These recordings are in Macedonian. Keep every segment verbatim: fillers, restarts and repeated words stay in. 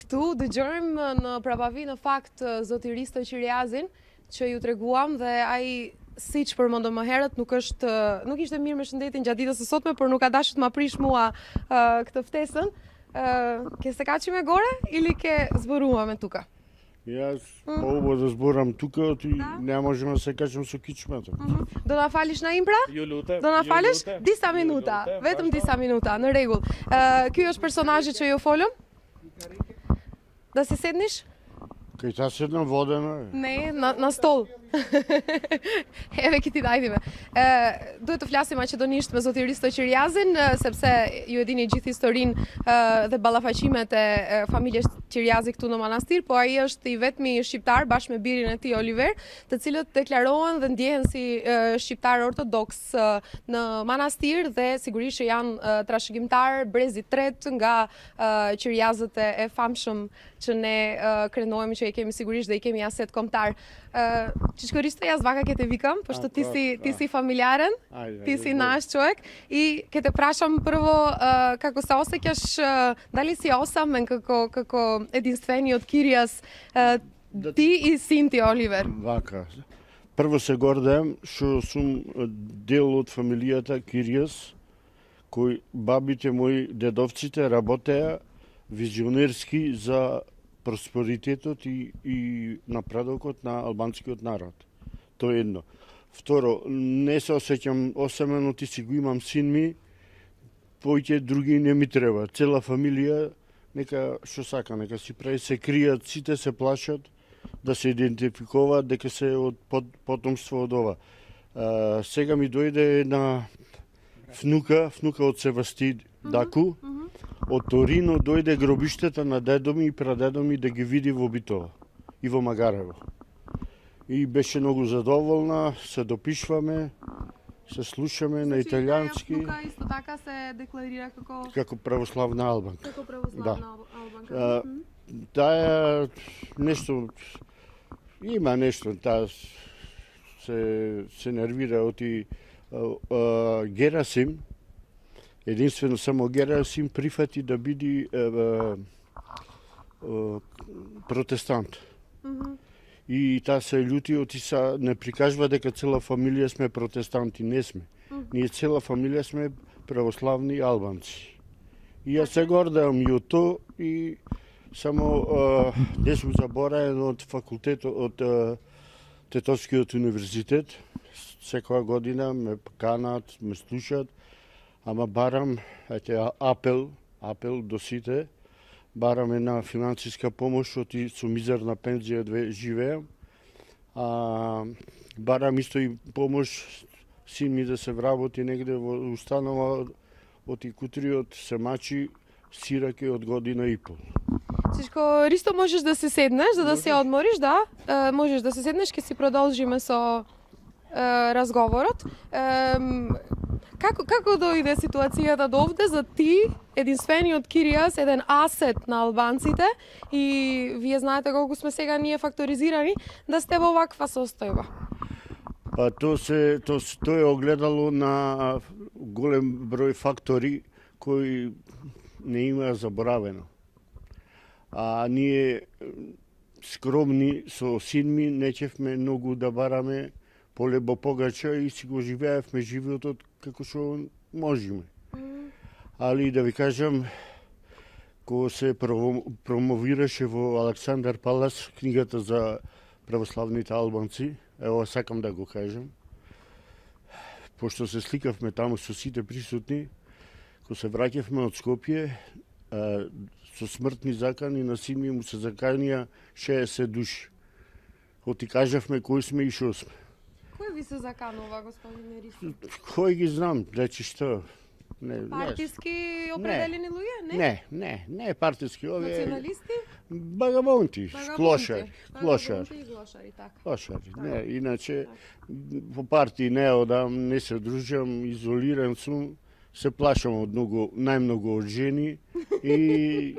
Këtu dëgjojmë në prapavi në fakt zoti Risto Qiriazin, që ju treguam dhe ai siç përmendëm më herët nuk është nuk ishte mirë me shëndetin gjatë ditës së sotme, por nuk ka dashur të ma prish mua uh, këtë ftesën. Uh, ke se kaçi me gore или ke зборува me тука? Јас по-убаво да зборам тука, ти не можеме да се качам со кичмата. Do na falësh na Impra? Ju lutem. Do na falësh disa minuta, vetëm disa minuta, në rregull. Uh, ky është personazhi që ju folëm? Da se sednish? Кај та седнам водена. Не, на, на стол. Еве ки ти дajtime. Ë duhet të flasim maqedonisht me zotin Risto Qiriazin, sepse ju e dini gjithë historinë dhe ballafaqimet e familjes Qiriazi këtu në manastir, po ai është i vetmi shqiptar bashkë me birin e tij Oliver, të cilët deklarohen dhe ndjehen si shqiptar ortodoks në manastir dhe sigurisht që janë trashëgimtar brezit tret nga Qiriazët e famshëm që ne krenohemi që i kemi sigurisht dhe i kemi aset kombëtar. Qiçko Risto, ja zvaka kete vikam, pošto ti si, ti si familjaren, ti si naš čovjek i kete prašam prvo uh, kako se osjećaš, uh, da li si osamen kako, kako edinstveni od Kirijas, uh, ti i sin ti Oliver? Вака. Прво се гордеам што сум дел од фамилијата Киријас, кој бабите мои, дедовците работеа визионерски за просперитетот и, и напредокот на албанскиот народ. Тоа е едно. Второ, не се осеќам осамено, ти си го имам син ми, поќе други не ми треба. Цела фамилија, нека што сака, нека си прави, се кријат, сите се плашат да се идентификуваат дека се од под, потомство од ова. А, сега ми дојде една внука, внука од Севасти Даку, од Торино дојде гробиштата на дедо ми и прадедо ми да ги види во Битола и во Магарево. И беше многу задоволна, се допишваме, се слушаме на италијански. Внука исто така се декларира како како православна албанка. Како православна албанка. А, таа нешто има нешто, таа се се нервира оти Герасим. Единствено само Герасим прифати да биде е, е, е, протестант. Mm -hmm. И таа се љути, оти са не прикажува дека цела фамилија сме протестанти, не сме. Mm -hmm. Ние цела фамилија сме православни албанци. И јас се гордеам и од тоа и само не сум забораен од факултетот, од е, Тетовскиот универзитет. Секоја година ме канат, ме слушат. Ама барам, ете, апел, апел до сите, барам една финансиска помош, оти со мизерна пензија две живеам. А, барам исто и помош син ми да се вработи негде во установа, оти Кутриот се мачи сираке од година и пол. Qiçko Risto, можеш да се седнеш, за да се одмориш, да? Uh, можеш да се седнеш, ќе си продолжиме со uh, разговорот. Uh, Како, како дојде ситуацијата до овде за ти, единствениот Киријас, еден асет на албанците и вие знаете колку сме сега ние факторизирани, да сте во ваква состојба? Па тоа се тоа то е огледало на голем број фактори кои не има заборавено. А ние скромни со син ми нечевме многу да бараме полебо погача и си го живеевме животот како што можеме. Mm. Али да ви кажам, кога се промовираше во Александар Палас книгата за православните албанци, ево сакам да го кажам, пошто се сликавме таму со сите присутни, кога се враќавме од Скопје, а, со смртни закани на син ми му се заканија шеесет души. Оти кажавме кои сме и шо сме. Кој ви се заканува, господине Ристо? Кој ги знам, речи што? Не, партиски определени луѓе, не? Не, не, не партиски, овие националисти, багабонти, клошари, клошари. Клошари, така. Клошари, не, иначе по партии не одам, не се дружам, изолиран сум, се плашам од многу, најмногу од жени и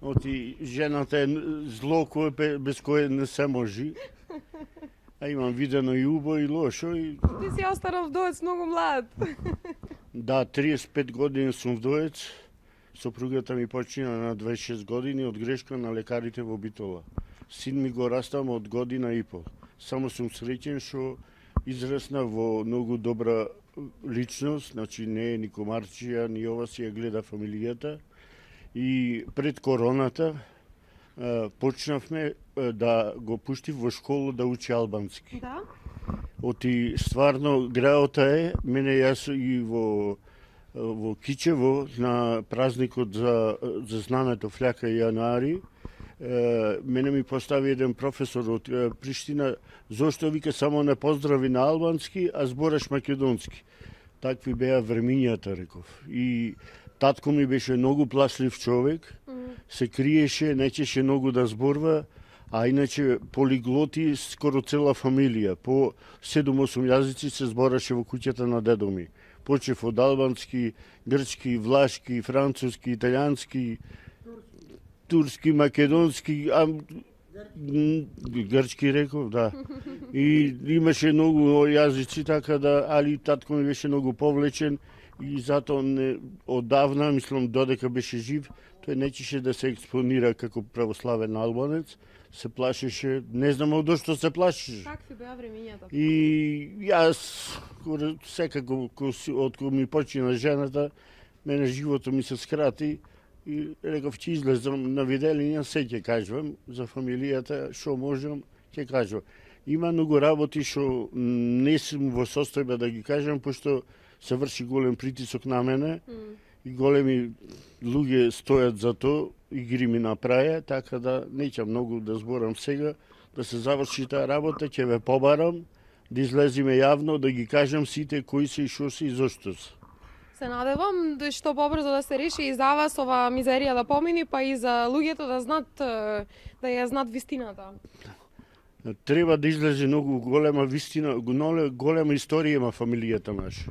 оти жената е зло кој без кое не се може. А имам видено и убо и лошо и... Ти си останал вдовец многу млад. Да, триесет и пет години сум вдовец. сопругата ми почина на дваесет и шест години од грешка на лекарите во Битола. Син ми го растам од година и пол. Само сум среќен што израсна во многу добра личност, значи не е ни комарчија, ни ова си ја гледа фамилијата. И пред короната почнавме да го пуштив во школа да учи албански. Да? Оти стварно граота е, мене јас и во во Кичево на празникот за за знамето Фљака и јануари, мене ми постави еден професор од Приштина, зошто вика само не поздрави на албански, а збораш македонски. Такви беа времињата, реков. И татко ми беше многу плашлив човек, се криеше, нечеше многу да зборва, а иначе полиглоти скоро цела фамилија. По седум-осум јазици се збораше во куќата на дедо ми. Почев од албански, грчки, влашки, француски, италијански, турски, македонски, а, грчки реков, да. И имаше многу јазици, така да, али татко ми беше многу повлечен и затоа не, одавна, мислам, додека беше жив, тој нечеше да се експонира како православен албанец, се плашеше, не знам од што се плашеше. Какви беа времињата? И јас, секако, од кога ми почина жената, мене живото ми се скрати и реков, ќе излезам на виделиња, се ќе кажувам за фамилијата, што можам, ќе кажувам. Има многу работи што не сум во состојба да ги кажам, пошто се врши голем притисок на мене mm. и големи луѓе стојат за тоа и ги ми направи, така да неќам многу да зборам сега, да се заврши таа работа, ќе ве побарам, да излезиме јавно, да ги кажам сите кои се и шо се и зошто се. Се надевам да што побрзо да се реши и за вас ова мизерија да помини, па и за луѓето да знаат, да ја знаат вистината. Треба да излезе многу голема вистина, голема историја има фамилијата наша.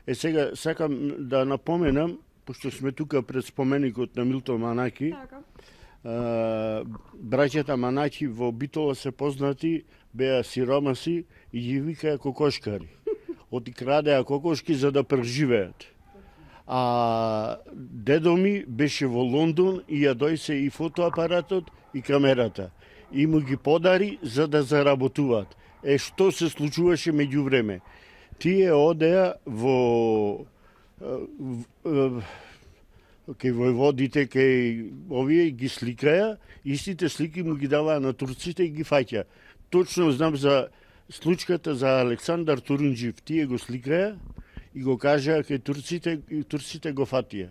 Е сега сакам да напоменам, пошто сме тука пред споменикот на Милтон Манаки, така. а, браќата Манаки во Битола се познати, беа сиромаси и ги викаја кокошкари. Оти крадеа кокошки за да преживеат. А дедо ми беше во Лондон и ја дојсе и фотоапаратот и камерата. И му ги подари за да заработуваат. Е, што се случуваше меѓу време? Тие одеа во кај војводите, кај овие ги сликаја, истите слики му ги даваа на турците и ги фаќа. Точно знам за случката за Александар Турунџив, тие го сликаја и го кажаа кај турците, и турците го фатија.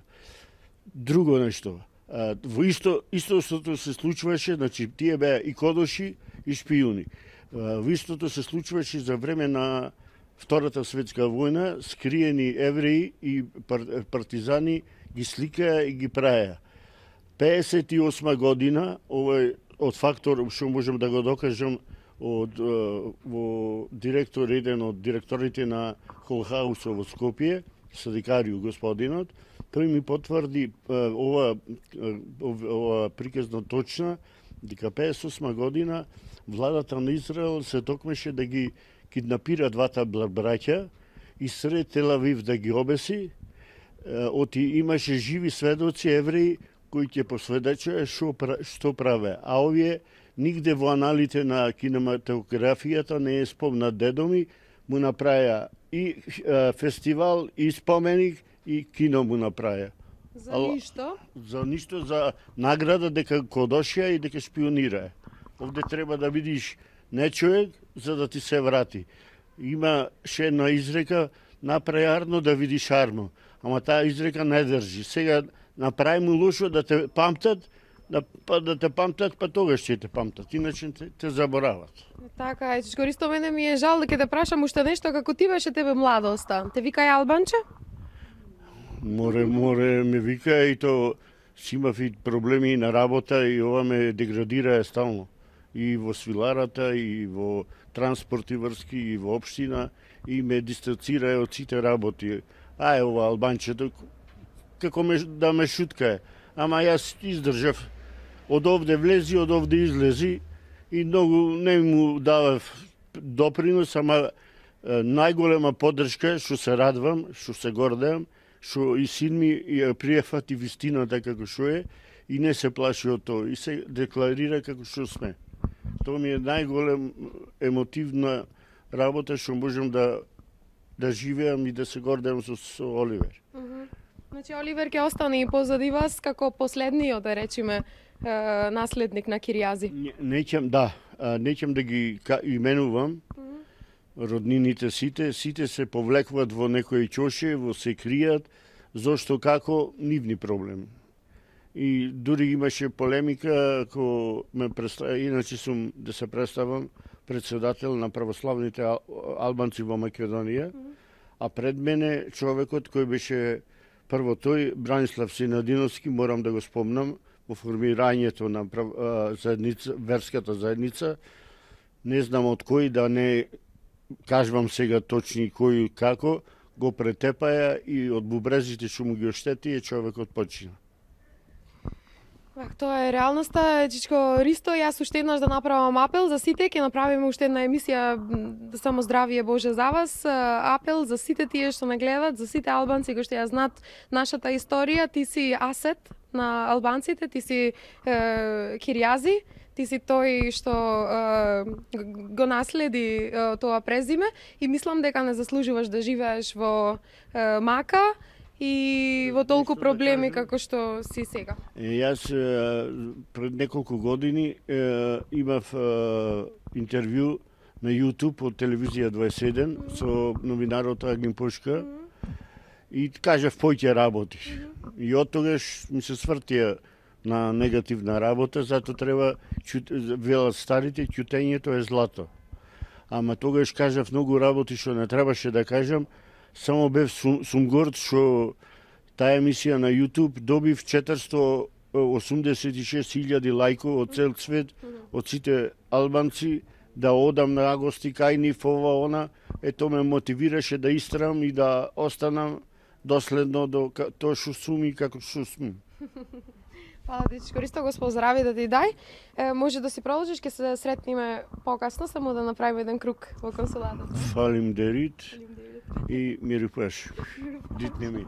Друго нешто, во исто истото се случваше, значи тие беа и кодоши и шпиуни. Во истото се случваше за време на Втората светска војна, скриени евреи и партизани ги сликаја и ги праја. пеесет и осма година, овој од фактор што можем да го докажам од во директор еден од директорите на Холхаусо во Скопје, Садикарију господинот, тој ми потврди ова ова приказна точна дека пеесет и осма година владата на Израел се токмеше да ги киднапира двата браќа и сред Тел-Авив да ги обеси. Оти имаше живи сведоци евреи кои ќе посведечаја што што праве. А овие нигде во аналите на кинематографијата не е спомнат. Дедо ми му направија и е, фестивал, и споменик, и кино му направија. За ништо? За ништо, за награда дека кодошија и дека шпионира. Овде треба да видиш не човек за да ти се врати. Има ше една изрека, направи арно да видиш арно. Ама таа изрека не држи. Сега направи му лошо да те памтат, да, па, да те памтат, па тогаш ќе те памтат, иначе те, те заборават. Така е, Чичко, мене ми е жал дека те прашам уште нешто, како ти беше тебе младоста. Те викај Албанче? Море, море ме вика и то си имав и проблеми на работа и ова ме деградира стално. И во свиларата, и во транспорти врски, и во општина, и ме дистанцира од сите работи. Ај, ова Албанчето, како ме, да ме шуткае. Ама јас издржав. Од овде влези, од овде излези и многу не му давав допринос, ама најголема поддршка, што се радвам, што се гордеам, што и син ми ја пријафати вистината како што е и не се плаши од тоа и се декларира како што сме. Тоа ми е најголем емотивна работа што можам да да живеам и да се гордеам со, со Оливер. Mm -hmm. Значи Оливер ќе остане и позади вас како последниот, да речеме, наследник на Киријази. Не, неќам, да, неќам да ги именувам. Mm -hmm. Роднините сите, сите се повлекват во некој ќоше, во се кријат, зошто како нивни проблеми. И дури имаше полемика, ако ме представа, иначе сум да се представам председател на православните албанци во Македонија, mm -hmm. а пред мене човекот кој беше прво тој, Бранислав Синадиновски, морам да го спомнам, во формирањето на заедница, верската заедница, не знам од кој да не кажувам сега точни кој како, го претепаја и од бубрезите што му ги оштети, човекот почина. Тоа е реалноста. Чичко Ристо, јас уште еднаш да направам апел за сите, ќе направиме уште една емисија само здравие Боже за вас. Апел за сите тие што ме гледат, за сите албанци кои што ја знаат нашата историја. Ти си асет на албанците, ти си е, Киријази, ти си тој што е, го наследи е, тоа презиме и мислам дека не заслужуваш да живееш во е, Мака и во толку проблеми како што си сега. Јас пред неколку години имав интервју на YouTube од телевизија дваесет и еден mm -hmm. со новинарот Агин Пушка mm -hmm. и кажав пој ќе работиш. Mm -hmm. И од тогаш ми се свртија на негативна работа, зато треба, велат старите, ќутењето е злато. Ама тогаш кажав многу работи што не требаше да кажам. Само бев сум, сум горд што таа емисија на YouTube добив четиристо осумдесет и шест илјади лајко од цел свет, од сите албанци, да одам на гости кај нив, ова, она. Ето ме мотивираше да истрам и да останам доследно до тоа што сум и како што сум. Фала ти, Чичко Ристо, го поздрави да ти дај. Е, може да си продолжиш, ќе се сретниме покасно, само да направиме еден круг во консулатот. Фалим дерит и миру паш. Дит не мир.